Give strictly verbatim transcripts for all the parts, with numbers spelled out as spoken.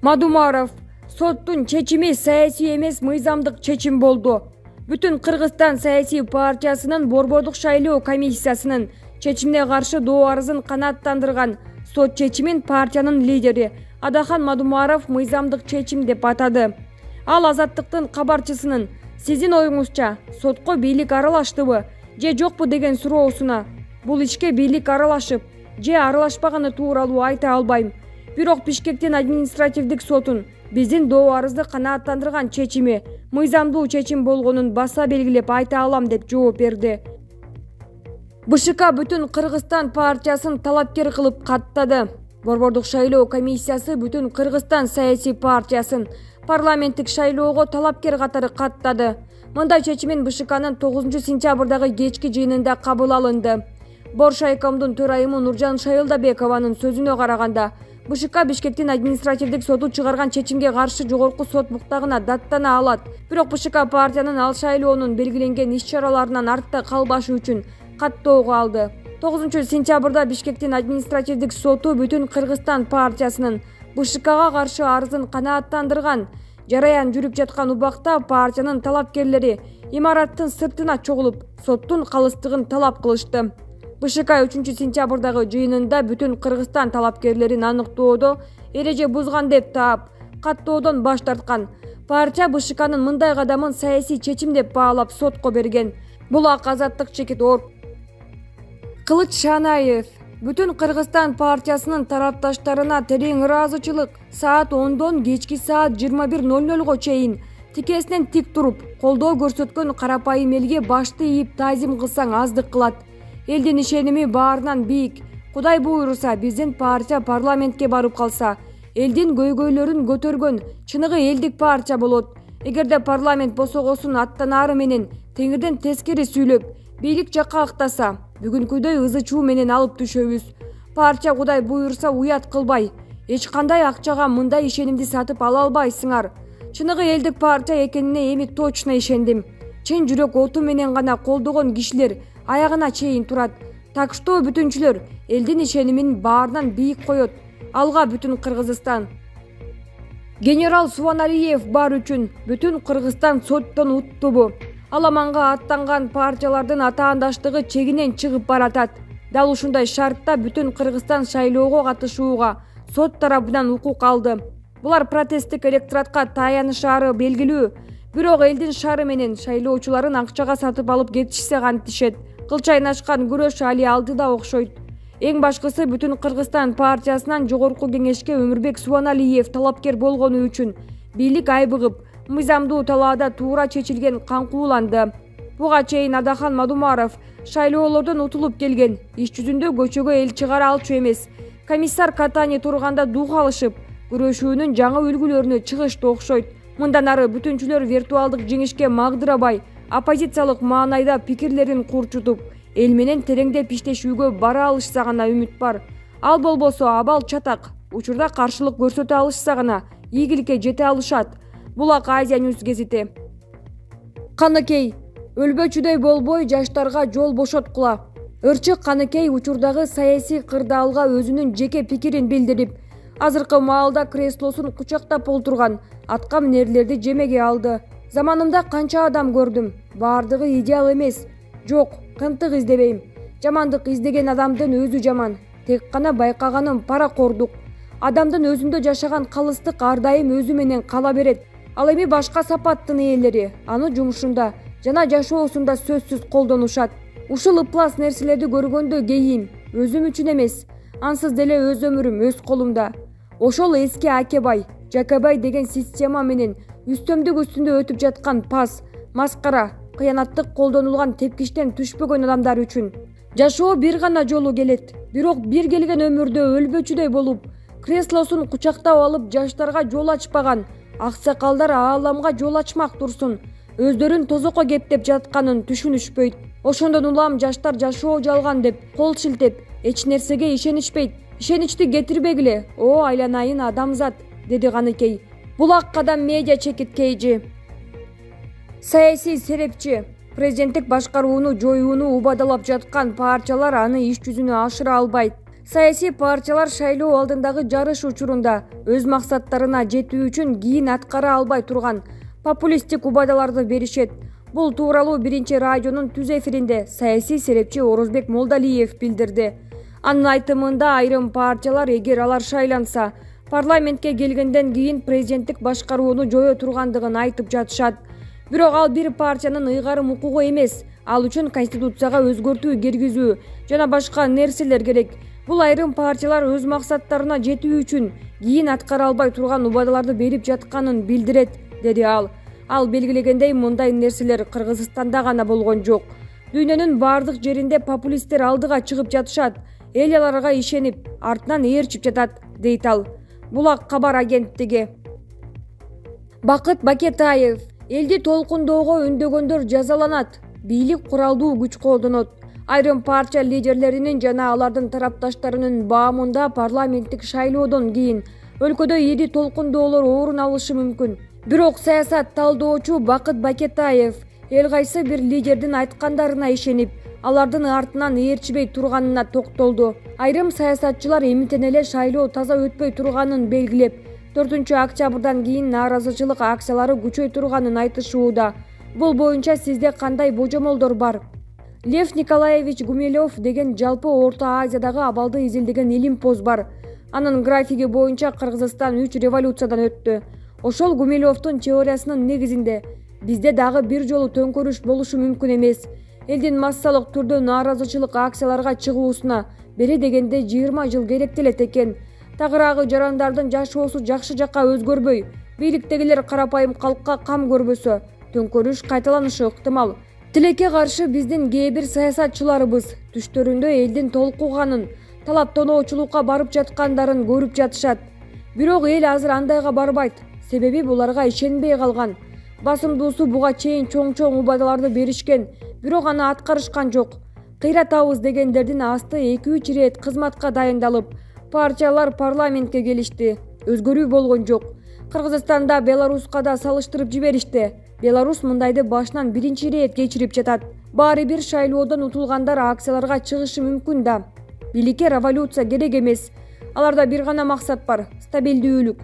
Мадумаров: соттун чечими саясий эмес, мыйзамдык чечим болду. Бүтүн Кыргызстан саясий партиясынын Борбордук шайлоо комиссиясынын чечимине каршы доо арызын канааттандырган сот чечимин партиянын лидери Адахан Мадумаров мыйзамдык чечим деп атады. Ал Азаттыктын кабарчысынын «Сиздин оюңузча сотко бийлик аралаштыбы же жокпу» деген суроосуна «Бул ишке бийлик аралашып же аралашпаганы тууралуу айта албайм. Бирок Бишкектин административдик сотун биздин доо арызды канааттандырган чечими мыйзамдуу чечим болгонун баса белгилеп айта алам» деп жооп берди. БШК Бүтүн Кыргызстан партиясын талапкер кылып каттады. Борбордук шайлоо комиссиясы Бүтүн Кыргызстан саясий партиясын парламенттик шайлоого талапкер катары каттады. Мындай чечимин БШКнын тогузунчу сентябрдагы кечки жыйынында кабыл алынды. Боршайкомдун төрайымы Нуржан Шайылдабекованын сөзүнө караганда, БШК Бишкектин административдик соту чыгарган чечимге каршы жогорку сот буктагына даттана алат. Бирок БШК партиянын ал шайлоонун белгиленген иш-чараларынан артта калбашы үчүн каттоого алды. тогузунчу сентябрда Бишкектин административдик соту Бүтүн Кыргызстан партиясынын БШКга каршы арызын канааттандырган. Жараян жүрүп жаткан убакта партиянын талапкерлери имараттын сыртына чогулуп, соттун калыстыгын талап кылышты. БШК үчүнчү сентябрдагы жыйынында Бүтүн Кыргызстан талапкерлерин аныктоодо эреже бузган деп таап, каттоодон баш тарткан. Партия БШКнын мындай кадамын саясий чечим деп баалап сотко берген. Бул ак Азаттык чекит ор. Кылыч Шанаев: Бүтүн Кыргызстан партиясынын тарапташтарына терең ыраазычылык. Саат ондон кечки саат жыйырма бир ноль нолго чейин тикесинен тик туруп, колдоо көрсөткөн карапайым элге башты ийип таазим кылсаң аздык кылат. Элдин ишеними баарынан бийик. Кудай буйруса, биздин партия парламентке барып калса, элдин көйгөйлөрүн көтөргөн чыныгы элдик партия болот. Эгерде парламент босогосун аттанары менен теңирден тескери сүйлөп, бийлик жакка актаса, бүгүнкүдөй ызы чуу менен алып түшөбүз. Партия Кудай буйруса уят кылбай, эч кандай акчага мындай ишенимди сатып ала албайсыңар. Чыныгы элдик партия экенине эми точно ишендим. Чын жүрөк оту менен гана колдогон кишилер аягына чейин турат. Так что бүтүнчүлөр элдин ишенимин баарынан бийик коет. Алга Бүтүн Кыргызстан. Генерал Субаналиев бар үчүн Бүтүн Кыргызстан соттон уттубу? Аламанга аттанган партиялардын атаандаштыгы чегинен чыгып баратат. Дал ушундай шартта Бүтүн Кыргызстан шайлоого катышууга сот тарабынан укук алды. Булар протесттик электоратка таянышаары белгилүү. Бирок элдин шары менен шайлоочуларын акчага сатып алып кетишсе кантишет. Кылчайнашкан күрөш али алдыда окшойт. Эң башкысы Бүтүн Кыргызстан партиясынан жогорку кеңешке Өмүрбек Субаналиев талапкер болгону үчүн бийлик айбыгып, мыйзамдуу талаада туура чечилген каңкууланды. Буга чейин Адахан Мадумаров шайлоолордон утулуп келген, иш жүзүндө көчөгө эл чыгара алчу эмес. Комиссар Катани турганда дух алышып, күрөшүүнүн жаңы үлгүлөрүнө чыгышты окшойт. Мындан ары бүтүнчүлөр виртуалдык жеңишке магдырабай, оппозициялык маанайда пикирлерин курчутуп, эл менен тереңдеп иштешүүгө бара алышса гана үмүт бар. Ал болбосо абал чатак, учурда каршылык көрсөтө алышса гана ийгиликке жете алышат. Бул ак Азия Ньюс гезити. Каныкей: өлбөчүдөй болбой жаштарга жол бошоткула. Ырчык Каныкей учурдагы саясий кырдаалга өзүнүн жеке пикирин билдирип, азыркы маалда креслосун кучактап олтурган атка минерлерди жемеге алды. Заманымда канча адам көрдүм, баардыгы идеал эмес. Жок, кынтык издебейм. Жамандык издеген адамдын өзү жаман. Тек гана байкаганым паракордук. Адамдын өзүндө жашаган калыстык ар дайым өзү менен кала берет. Ал эми башка сапаттын ээлери аны жумушунда жана жашоосунда сөзсүз колдонушат. Ушул ыплас нерселерди көргөндө кейим, өзүм үчүн эмес, ансыз деле өз өмүрүм өз колумда. Ошол эски Акебай, Жакебай деген система менен үстөмдүк үстүндө өтүп жаткан пас, маскара, кыянаттык колдонулган тепкичтен түшпөгөн адамдар үчүн. Жашоо бир гана жолу келет, бирок бир келген өмүрдө өлбөчүдөй болуп, креслосун кучактап алып жаштарга жол ачпаган аксакалдар ааламга жол ачмак турсун, өздөрүн тозокко кептеп жатканын түшүнүшпөйт. Ошондон улам жаштар жашоо жалган деп кол шилтеп, эч нерсеге ишенишпейт. Ишеничти кетирбегиле, о айланайын адамзат, деди Каныкей. Бул ак кадам медиа чекит кейжи. Саясий серепчи: президенттик башкарууну жоюуну убадалап жаткан партиялар аны иш жүзүнө ашыра албайт. Саясий партиялар шайлоо алдындагы жарыш учурунда өз максаттарына жетүү үчүн кийин аткара албай турган популисттик убадаларды беришет. Бул тууралуу биринчи радионун түз эфиринде саясий серепчи Орозбек Молдалиев билдирди. Анын айтымында айрым партиялар эгер алар шайланса, парламентке келгенден кийин президенттик башкарууну жое тургандыгын айтып жатышат. Бирок ал бир партиянын ыйгарым укугу эмес, ал үчүн конституцияга өзгөртүү киргизүү жана башка нерселер керек. Бул айрым партиялар өз максаттарына жетүү үчүн кийин аткара албай турган убадаларды берип жатканын билдирет, деди ал. Ал белгилегендей, мындай нерселер Кыргызстанда гана болгон жок. Дүйнөнүн бардык жеринде популисттер алдыга чыгып жатышат, эл аларга ишенип, артынан ээрчип жатат, дейт ал. Булак кабар агенттиги. Бакыт Бакетаев: элди толкундоого үндөгөндөр жазаланат, бийлик куралдуу күч колдонот. Айрым партия лидерлеринин жана алардын тарапташтарынын баамында парламенттик шайлоодон кийин өлкөдө эди толкундоолор орун алышы мүмкүн. Бирок саясат талдоочу Бакыт Бакетаев эл кайсы бир лидердин айткандарына ишенип, алардын артынан ээрчибей турганына токтолду. Айрым саясатчылар эмитен эле шайлоо таза өтпөй турганын белгилеп, төртүнчү октябрдан кийин нааразычылык акциялары күчөй турганын айтышууда. Бул боюнча сизде кандай божомолдор бар? Лев Николаевич Гумилев деген жалпы Орто Азиядагы абалды изилдеген илимпоз бар. Анын графиги боюнча Кыргызстан үч революциядан өттү. Ошол Гумилевдун теориясынын негизинде бизде дагы бир жолу төңкөрүш болушу мүмкүн эмес. Элдин массалык түрдө нааразычылык акцияларга чыгуусуна бери дегенде жыйырма жыл керектелет экен. Тагыраагы жарандардын жашоосу жакшы жакка өзгөрбөй, бийликтегилер карапайым калкка кам көрбөсө, төңкөрүш кайталанышы ыктымал. Тилекке каршы биздин кээ бир саясатчыларыбыз түштөрүндө элдин толкуганын, талаптоноочулукка барып жаткандарын көрүп жатышат. Бирок эл азыр андайга барбайт, себеби буларга ишенбей калган. Басымдуусу буга чейин чоң-чоң убадаларды беришкен, бирок аны аткарышкан жок. Кыйратабыз дегендердин асты эки үч ирет кызматка дайындалып, партиялар парламентке келишти. Өзгөрүү болгон жок. Кыргызстанда Беларуска да салыштырып жиберишти. Беларус мындайды башынан биринчи ирет кечирип жатат. Баары бир шайлоодон утулгандар акцияларга чыгышы мүмкүн да. Бийликке революция керек эмес. Аларда бир гана максат бар: стабилдүүлүк.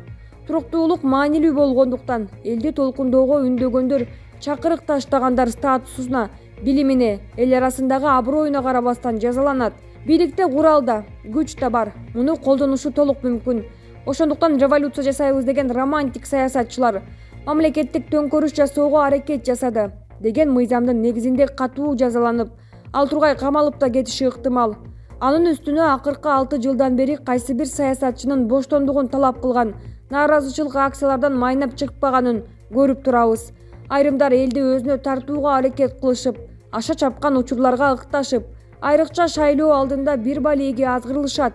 Туруктуулук маанилүү болгондуктан элди толкундоого үндөгөндөр чакырык таштагандар статусуна, билимине, эл арасындагы аброюна карабастан жазаланат. Бийликте курал да, күч да бар. Муну колдонушу толук мүмкүн. Ошондуктан революция жасайбыз деген романтик саясатчылар мамлекеттик төңкөрүш жасоого аракет жасады деген мыйзамдын негизинде катуу жазаланып, ал тургай камалып да кетиши ыктымал. Анын үстүнө акыркы алты жылдан бери кайсы бир саясатчынын боштондугун талап кылган нааразычылык акциялардан майнап чыкпаганын көрүп турабыз. Айрымдар элди өзүнө тартууга аракет кылышып, аша чапкан учурларга ыкташып, айрыкча шайлоо алдында бир балеге азгырылышат.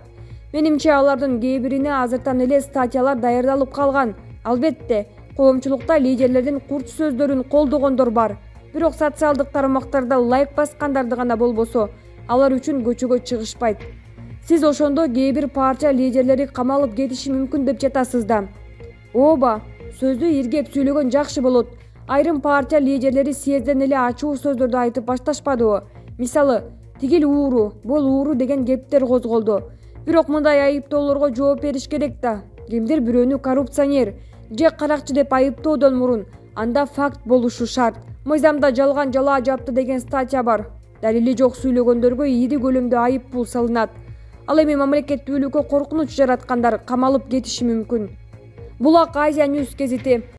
Менимче алардын кээ бирине азыртан эле статьялар даярдалып калган. Албетте, коомчулукта лидерлердин курч сөздөрүн колдогондор бар. Бирок социалдык тармактарда лайк баскандарды гана болбосо, алар үчүн көчөгө чыгышпайт. Сиз ошондо кээ бир партия лидерлери камалып кетиши мүмкүн деп жатасыз да. Ооба, сөздү иргеп сүйлөгөн жакшы болот. Айрым партия лидерлери съезден эле ачуу сөздөрдү айтып башташпадыбы? Мисалы, тигил ууру, бул ууру деген кептер козголду. Бирок мындай айыптоолорго жооп бериш керек да. Кимдир бирөөнү коррупционер же каракчы деп айыптоодон мурун анда факт болушу шарт. Мыйзамда жалган жалаа жапты деген статья бар. Далили жок сүйлөгөндөргө ири көлөмдө айып пул салынат. Ал эми мамлекеттүүлүккө коркунуч жараткандар камалып кетиши мүмкүн. Булак Азия Ньюс гезити.